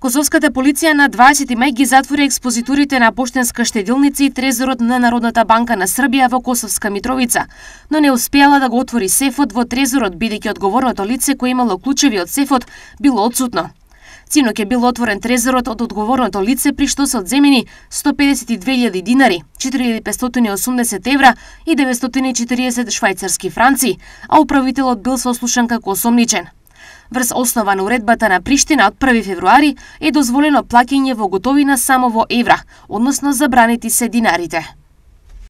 Косовската полиција на 20 мај ги затвори експозиторите на поштенска штедилница и трезорот на Народната банка на Србија во Косовска Митровица, но не успеала да го отвори сефот во трезорот бидејќи одговорното лице кое имало клучеви од сефот било отсутно. Синоќ е бил отворен трезорот од одговорното лице при што се одземени 152.000 динари, 4.580 евра и 940 швајцарски франци, а управителот бил сослушан како осомничен. Врз основа на уредбата на Приштина од 1 февруари е дозволено плаќање во готовина само во евра, односно забранети се динарите.